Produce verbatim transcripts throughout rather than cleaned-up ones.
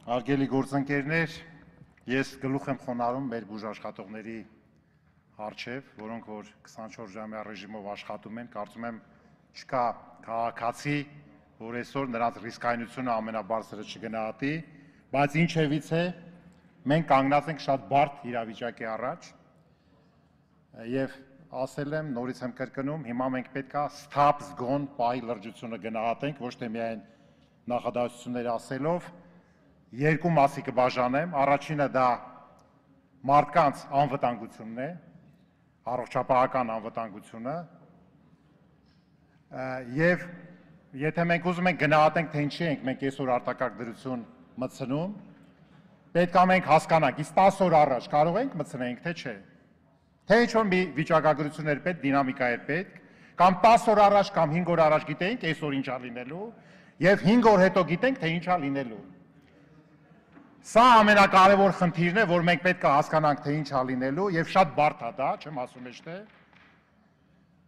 Արգելի գործընկերներ, ես գլուխ եմ խոնարհում մեր բուժաշխատողների առջև, որոնք որ քսանչորս ժամյա ռեժիմով աշխատում են, կարծում եմ չկա քաղաքացի, որ այսօր նրանց ռիսկայնությունը ամենաբարձրը չգնահատի, բայց ինչևից է, մենք կանգնած ենք շատ բարդ իրավիճակի առաջ եւ ասել եմ, նորից եմ կրկնում, հիմա մենք պետք է սթափ զգոն պահի լրջությունը գնահատենք, ոչ թե միայն նախադասություններ ասելով, երկու մասի կբաժանեմ, առաջինը դա մարդկանց անվտանգությունն է, առողջապահական անվտանգությունը, եւ եթե մենք ուզում ենք գնահատենք, թե ինչի ենք մենք այսօր արտակարգ դրություն մտցնում, պետք է մենք հասկանանք, իսկ տասը օր առաջ կարող ենք մտցնենք, թե չէ, թե ինչ-որ մի վիճակագրություն էր պետք, դինամիկա էր պետք, կամ տասը օր առաջ կամ հինգ օր առաջ գիտեինք այսօր ինչ է լինելու, եւ հինգ օր հետո գիտենք, թե ինչ է լինելու։ Սա ամենակարևոր խնդիրն է, որ մենք պետք է հասկանանք, թե ինչ է լինելու, եւ շատ բարդ է դա, չեմ ասում ես թե,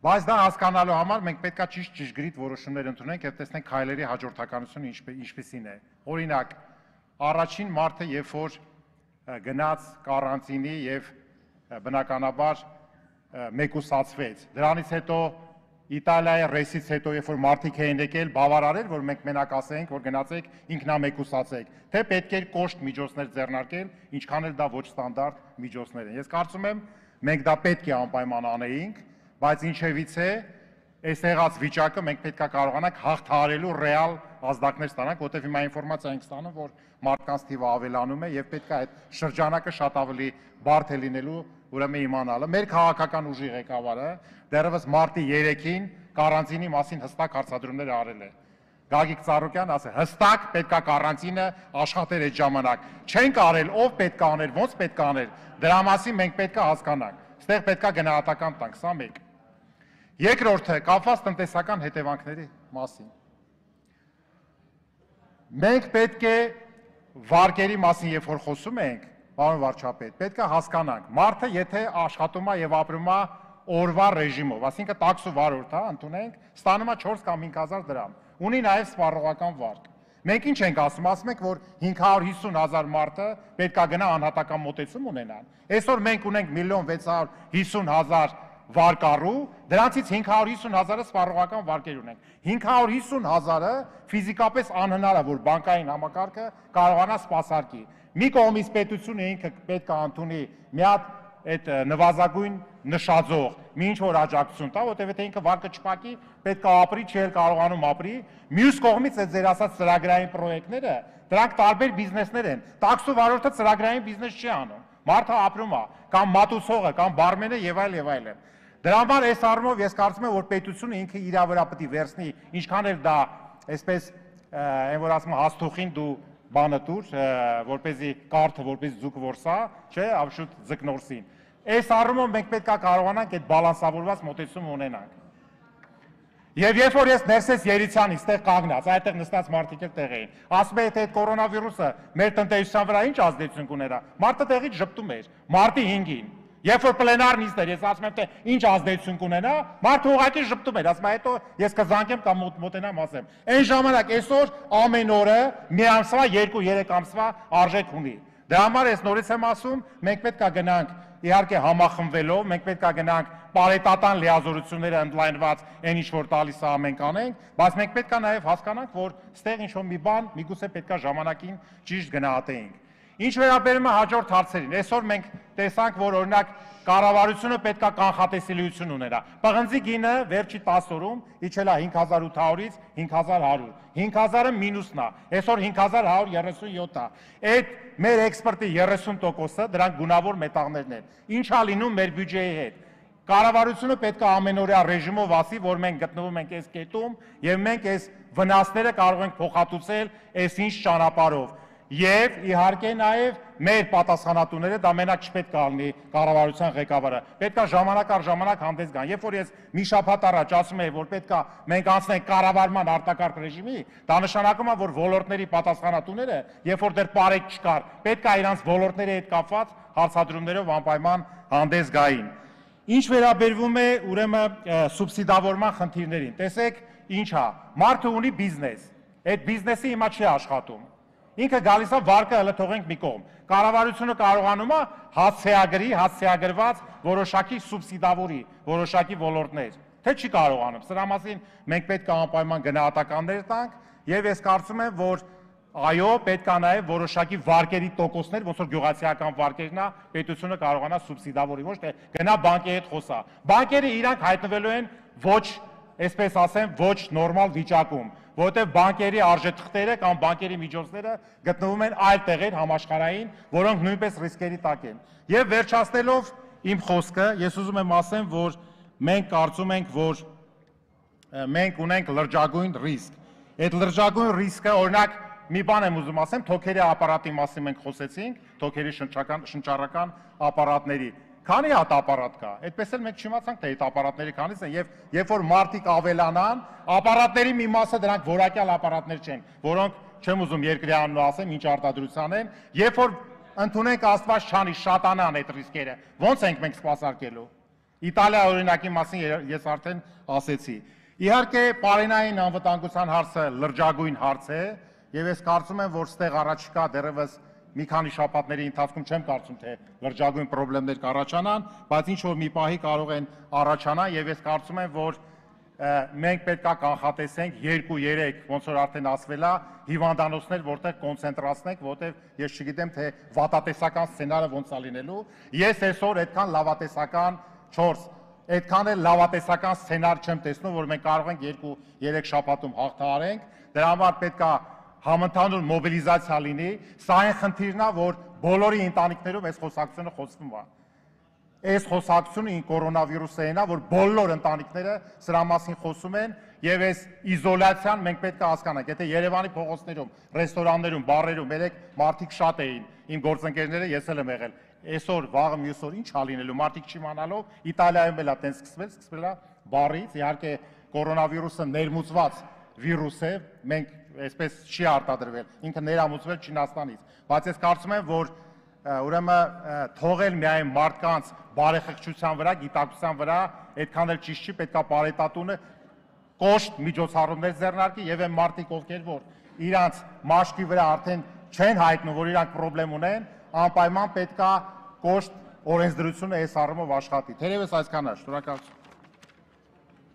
բայց դա հասկանալու համար մենք պետք է ճիշտ ճշգրիտ որոշումներ ընդունենք եւ տեսնենք քայլերի հաջորդականությունը ինչպիսին է։ Օրինակ, առաջին մարտը, երբ որ գնաց կարանտինի եւ բնականաբար մեկուսացվեց, դրանից հետո Իտալիայի ռեյսից հետո, երբ որ մարդիկ էին եկել, բավարար էր, որ մենք մենակ ասենք, որ գնացեք ինքնամեկուսացեք, թե պետք էր կոշտ միջոցներ ձեռնարկել, ինչքան էլ դա ոչ ստանդարտ միջոցներ են։ Ես կարծում եմ, մենք դա պետք է անպայման անեինք, բայց ինչևից է, այս եղած վիճակը մենք պետք է կարողանանք հաղթահարելու ռեալ ազդակներ ստանանք, որտեղ հիմա ինֆորմացիա ենք ստանում, որ մարդկանց թիվը ավելանում է եւ պետք է այդ շրջանակը շատ ավելի բարդ է լինելու, ուրեմն իմանալը։ Մեր քաղաքական ուժի ղեկավարը դեռևս մարտի երեքին կարանտինի մասին հստակ հարցադրումներ արել է։ Գագիկ Ծառուկյան ասել, հստակ պետք է կարանտինը աշխատեր այդ ժամանակ։ Չենք արել, ով պետք է աներ, ոնց պետք է աներ։ Դրա մասին մենք պետք է հասկանանք։ Այստեղ պետք է գնահատական տանք, սա մեկ։ Երկրորդը կապված տնտեսական հետևանքների մասին։ Մենք պետք է վարկերի մասին, երբ որ խոսում ենք, պարոն վարչապետ, պետք է հասկանանք, մարդը եթե աշխատում է եւ ապրում է օրվա ռեժիմով, այսինքն տաքս ու վարորդ, հա, ընդունենք, ստանում է չորս կամ հինգ հազար դրամ, ունի նաեւ սպառողական վարկ։ Մենք ինչ ենք ասում, ասում ենք, որ հինգ հարյուր հիսուն հազար մարդը պետք է գնա անհատական մոտեցում ունենան։ Այսօր մենք ունենք միլիոն վեց հարյուր հիսուն հազար վարկառու, դրանցից հինգ հարյուր հիսուն հազարը սպառողական վարկեր ունենք։ հինգ հարյուր հիսուն հազարը ֆիզիկապես անհնար է, որ բանկային համակարգը կարողանա սպասարկի։ Մի կողմից պետությունը ինքը պետք է ընդունի մի հատ այդ նվազագույն նշաձող, մի ինչ որ աջակցություն տա, որտեղ եթե ինքը վարկը չփակի, պետք է ապրի, չի էլ կարողանում ապրի։ Մյուս կողմից այդ ձեր ասած ծրագրային պրոյեկտները, դրանք տարբեր բիզնեսներ են։ Տաքս ու վարորդը ծրագրային բիզնես չի անում։ Մարդը ապրում է, կամ մատուցողը, կամ բարմենը եւ այլ եւ այլն։ Դրա համար այս առումով ես կարծում եմ, որ պետությունը ինքը իր վրա պետք է վերցնի, ինչքան էլ դա այսպես այն որ ասում հաստուխին դու բանը տուր, որպեսզի կարթը, որպեսզի ձուկ որսա, չէ, ավշուտ ձկնորսին։ Այս առումով մենք պետք է կարողանանք այդ բալանսավորված մոտեցում ունենանք։ Եվ երբ որ ես ներսես Երիցյանից տեղ կանգնած, այդտեղ նստած մարդիկ էլ տեղ էին, ասում է, թե այդ կորոնավիրուսը մեր տնտեսության վրա ինչ ազդեցություն կուներա, մարդը տեղից ժպտում էր, մարտի հինգին։ Երբ որ պլենար նիստ էր, ես ասում եմ, թե ինչ ազդեցություն կունենա, մարդը ուղղակի ժպտում էր, ասում է, հետո ես կզանգեմ կամ մոտենամ ասեմ։ Այն ժամանակ այսօր ամեն օրը մի ամսվա, երկու, երեք ամսվա արժեք ունի։ Դրա համար ես նորից եմ ասում, մենք պետք է գնանք իհարկե համախմբվելով, մենք պետք է գնանք պարետատան լիազորությունները ընդլայնված այն ինչ որ տալիս է մենք անենք, բայց մենք պետք է նաև հասկանանք, որ ստեղ ինչ որ մի բան միգուցե պետք է ժամանակին ճիշտ գնահատեինք։ Ինչ վերաբերում է հաջորդ հարցերին, այսօր մենք տեսանք, որ օրինակ կառավարությունը պետք է կանխատեսելիություն ունենա։ Պղնձի գինը վերջի տասը օրում իջել է հինգ հազար ութ հարյուրից հինգ հազար հարյուր։ հինգ հազարը մինուսն է, այսօր հինգ հազար հարյուր երեսուն յոթ է։ Այդ մեր էքսպորտի երեսուն տոկոսը դրանք գունավոր մետաղներն են։ Ինչ է լինում մեր բյուջեի հետ։ Կառավարությունը պետք է ամենօրյա ռեժիմով ասի, որ մենք գտնվում ենք այս կետում եւ մենք այս վնասները կարող ենք փոխհատուցել այս ինչ ճանապարհով։ Եվ իհարկե նաև մեր պատասխանատուները դա մենակ չպետք է լինի կառավարության ղեկավարը, պետք է ժամանակ առ ժամանակ հանդես գան։ Երբ որ ես մի շաբաթ առաջ ասում եմ, որ պետք է մենք անցնենք կառավարման արտակարգ ռեժիմի, դա նշանակում է, որ ոլորտների պատասխանատուները, երբ որ դեռ բարեք չկար, պետք է իրանց ոլորտների հետ կապված հարցադրումներով անպայման հանդես գային։ Ինչ վերաբերվում է ուրեմն սուբսիդավորման խնդիրներին, տեսեք ինչ է, մարդը ունի բիզնես, այդ բիզնեսը հիմա չի աշխատում։ ինքը գալիս է վարկը հələ թողենք մի կողմ։ Կառավարությունը կարողանում է հասցեագրի, հասցեագրված որոշակի սուբսիդավորի, որոշակի ոլորտներ, թե չի կարողանում։ Սրա մասին մենք պետք է անպայման գնահատականներ տանք եւ ես կարծում եմ, որ այո, պետք է նաեւ որոշակի վարկերի տոկոսներ, ոնց որ գյուղացիական վարկերն է, պետությունը կարողանա սուբսիդավորի, ոչ թե գնա բանկի հետ խոսա։ Բանկերը իրանք հայտնվելու են ոչ, այսպես ասեմ, ոչ նորմալ վիճակում, որովհետև բանկերի արժեթղթերը կամ բանկերի միջոցները գտնվում են այլ տեղեր համաշխարհային, որոնք նույնպես ռիսկերի տակ են։ Եվ վերջացնելով իմ խոսքը, ես ուզում եմ ասեմ, որ մենք կարծում ենք, որ մենք ունենք լրջագույն ռիսկ։ Այդ լրջագույն ռիսկը, օրինակ, մի բան եմ ուզում ասեմ, թոքերի ապարատի մասին մենք խոսեցինք, թոքերի շնչառական ապարատների։ Քանի հատ ապարատ կա, այդպես էլ մենք չիմացանք, թե այդ ապարատների քանից են, եւ երբ որ մարդիկ ավելանան, ապարատների մի մասը դրանք որակյալ ապարատներ չեն, որոնք չեմ ուզում երկրի անունով ասեմ, ինչ արտադրության են, երբ որ ընդունենք Աստված չանի շատանան այդ ռիսկերը, ո՞նց ենք մենք սպասարկելու։ Իտալիա օրինակի մասին ես արդեն ասեցի։ Իհարկե, պարենային անվտանգության հարցը լրջագույն հարց է, եւ ես կարծում եմ, որ ստեղ առաջիկա դեռևս մի քանի շաբաթների ընթացքում չեմ կարծում, թե լրջագույն խնդիրներ կառաջանան, բայց ինչ որ մի պահի կարող են առաջանալ եւ ես կարծում եմ, որ մենք պետք է կանխատեսենք երկու երեք, ոնց որ արդեն ասվել է, հիվանդանոցներ, որտեղ կոնցենտրացնենք, որտեղ ես չգիտեմ, թե վատատեսական սցենարը ոնց է լինելու։ Ես այսօր այդքան լավատեսական չորս, այդքան էլ լավատեսական սցենար չեմ տեսնում, որ մենք կարող ենք երկու երեք շաբաթում հաղթահարենք։ Դրա համար պետք է համընդհանուր մոբիլիզացիա լինի, սա այն խնդիրն է, որ բոլորի ընտանիքներում այս խոսակցությունը խոսվում է։ Այս խոսակցությունը կորոնավիրուսային է, որ բոլոր ընտանիքները սրա մասին խոսում են եւ այս իզոլացիան մենք պետք է հասկանանք։ Եթե Երևանի փողոցներում, ռեստորաններում, բարերում երեք մարդիկ շատ էին, իմ գործընկերները, ես էլ եմ եղել, այսօր վաղը մյուս օր ինչ ա լինելու, մարդիկ չիմանալով, Իտալիայում էլ է տենց սկսվել, սկսվել է բարից, իհարկե կորոնավիրուսը ներմուծված վիրուս է, մենք այսպես չի արտադրվել, ինքը ներամուծվել Չինաստանից, բայց ես կարծում եմ, որ ուրեմն թողել միայն մարդկանց բարեխղճության վրա, գիտակցության վրա, այդքան էլ ճիշտ չի, պետք է պարետատունը կոշտ միջոցառումներ ձեռնարկի եւ այն մարդիկ, ովքեր որ իրանց մաշկի վրա արդեն չեն հայտնում, որ իրանք խնդրեմ ունեն, անպայման պետք է կոշտ օրենսդրությունը այս առումով աշխատի։ Թերևս այսքան է, շնորհակալություն։